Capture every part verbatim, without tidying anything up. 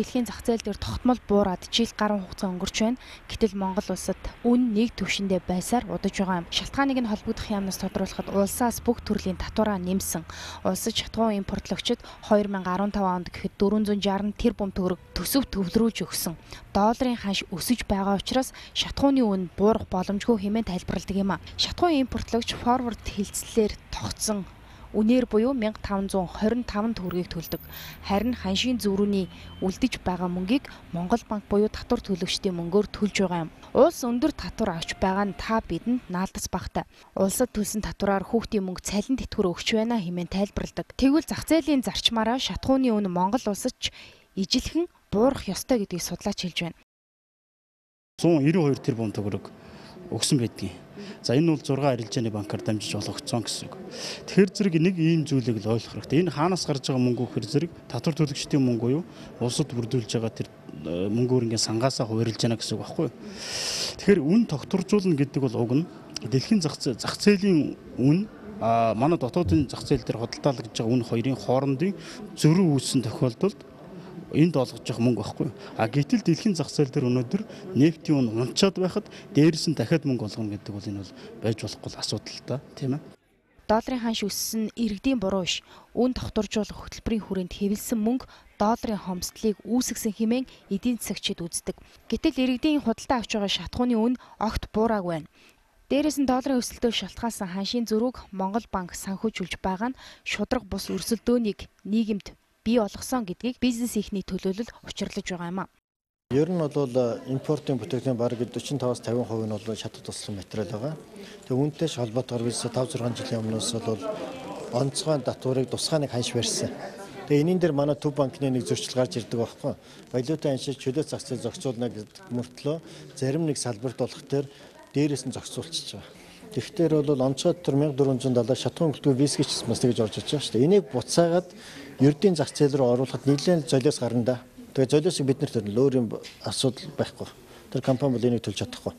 дэлхийн зах зээл дээр тогтмол буураад жил гаруй хугацаа өнгөрч байна. Гэтэл Монгол улсад үн нэг түвшиндээ байсаар удаж байгаа юм. Шалтгааныг нь холбогдох юмнаас тодруулахад улсаас бүх төрлийн татвараа нэмсэн. Улсад шатгуун импортлогчид хоёр мянга арван таван онд гэхэд дөрвөн зуун шарна тэрбум төгрөг төсөв төвлөрүүлж өгсөн. Долларын ханш өсөж байгаа учраас шатгууны үн буурах боломжгүй хэмээн тайлбарладаг юм а. Шатгуун импортлогч форвард хилцлэлээр тогтсон үнээр буюу мянга таван зуун хорин таван төгрөгийг төлдөг. Харин ханшийн зөрүүний үлдэж байгаа мөнгийг Монгол банк буюу татвар төлөгчдийн мөнгөөр төлж байгаа юм. Улс өндөр татвар авч байгаа нь та бидэнд наалдас багтай. Улсад төлсөн татвараар хүүхдийн мөнгө цалин тэтгэвэр өгч байна хэмээн тайлбарладаг. Тэгвэл зах зээлийн зарчмаараа шатгууны үн Монгол улсад ч ижилхэн буурах ёстой гэдгийг судлаач хэлж байна. зуун нэрвэн хоёр тэрбум төгрөг өгсөн байдгийг. За энэ бол зургаан арилжааны банкар дамжиж олгогдсон гэсэн үг. Тэгэхээр зэрэг нэг ийм зүйлийг л ойлгох хэрэгтэй. Энэ хаанаас гарч байгаа мөнгө гэхэр зэрэг татвар төлөгчдийн мөнгө юу? Улсад бүрдүүлж байгаа тэр мөнгөөр ингээ сангаасаа хуваарлж яана гэсэн үг байхгүй юу? Тэгэхээр үн тогтворжуулна гэдэг бол уг нь дэлхийн зах зээлийн үн а манай дотоодын зах зээл дээр худалдаалагдж байгаа үн хоёрын хоорондын зөрүү үүссэн тохиолдолд энд олгож явах мөнгө байхгүй. А гэтэл дэлхийн зах зээл дээр өнөөдөр нефтийн үн унчаад байхад дээрээс нь дахиад мөнгө олгоно гэдэг бол энэ бол байж болохгүй асуудал та тийм ээ. Долларын ханш өссөн иргэдийн буруу биш. Үн тогтворжуулах хөтөлбөрийн хүрээнд хэвлсэн мөнгө долларын хомсдлыг үүсгэсэн хэмээн эдийн засагчид үздэг. Гэтэл иргэдийн худалдаа авч байгаа шатгууны үн огт буураагүй байна. Дээрээс нь долларын өсөлтөөс шалтгаалсан ханшийн зөрүүг Монгол банк санхүүжүүлж байгаа нь шудраг бус өрсөлдөөнийг нийгэмд бий болгосон гэдгийг бизнес ихний төлөөлөл учирлаж байгаа юм а. Ер нь бол импортын бүтээгдэхүүн бараг дөрвөн тавиас тавин хувь нь бол шатад туслах материал байгаа. Тэгээ үүнтэй холбоотойгоор бид таван зургаан жилийн өмнөөс бол онцгой татварыг тусгай нэг ханш барьсан. Тэгээ энийн дээр манай төв банкны нэг зөрчил гарч ирдэг байхгүй. Валютын ханшийг чөлөө зах зээл зохицуулна гэдэг мөртлөө зарим нэг салбарт болох төр дээрээс нь зохицуулчихж байгаа. Тэгэхээр бол онцгой дотор мянга дөрвөн зуун доллар шатгуун хөлтгөө вискич бас тэгж орж иж байгаа шүү дээ. Энийг буцаагаад ердийн зах зээл рүү оруулахад нэлээд золиос гарна да. Тэгээ золиосыг бид нар төрөл өөр юм асуудал байхгүй. Тэр компани бол энийг төлж чадахгүй.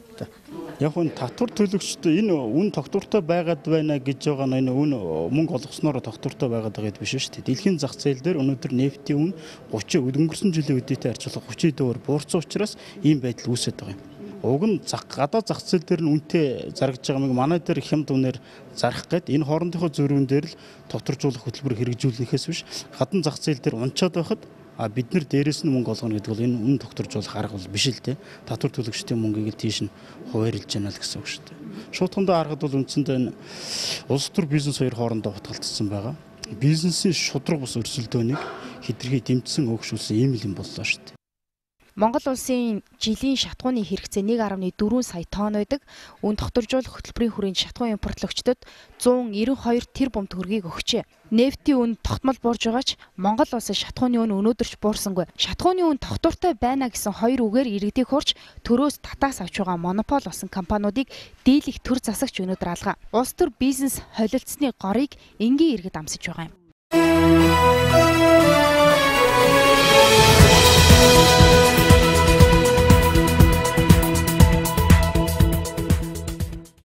Яг нь татвар төлөгчд энэ үн тогтвортой байгаад байна гэж байгаа нь энэ үн мөнгө олгосноор тогтвортой байгаад байгаа гэдэг биш шүү дээ. Дэлхийн зах зээл дээр өнөөдөр нефтийн үн гурван өнгөрсөн жилийн үдээтэй харьцуулах гурван доор буурсан учраас ийм байдал үүсэж байгаа юм. Уг нь гадаад зах зээл дээр нь үнэтэй зарагдж байгаа мэг манай дээр хямд үнээр зарах гээд энэ хоорондынхоо зөрүүн дээр л тогтворжуулах хөтөлбөр хэрэгжүүлнэхээс биш гадна зах зээл дээр унчаад байхад а бид нар дээрээс нь мөнгө олгоно гэдэг бол энэ үн тогтворжуулах арга бол биш л дээ. Татвар төлөгчдийн мөнгийг тийш нь хуваарлж яана л гэсэн үг шүү дээ. Шуудхандаа харахад бол үндсэндээ энэ улс төр бизнес хоёр хоорондоо утгалтсан байгаа. Бизнесийн шудраг бус өрсөлдөөнийг хэтэрхий дэмжсэн өгшүүлсэн ийм л юм боллоо шүү дээ. Монгол улсын жилийн шатгууны хэрэгцээ нэг гаруй дөрвөн сая тонн байдаг. Үн тогтворжуулах хөтөлбөрийн хүрээнд шатгуун импортлогчдод зуун нэрвэн хоёр тэрбум төгрөгийг өгчээ. Нефтийн үн тогтмол буурж байгаа ч Монгол улсын шатгууны үн өнөөдөр ч буурсангүй. Шатгууны үн тогтвортой байна гэсэн хоёр үгээр иргэдийг хурж төрөөс татаас авч байгаа монопол болсон компаниудыг дийлэх төр засагч өнөөдөр алгаа. Улс төр бизнес холилдсны горыг энгийн иргэд амсаж байгаа юм.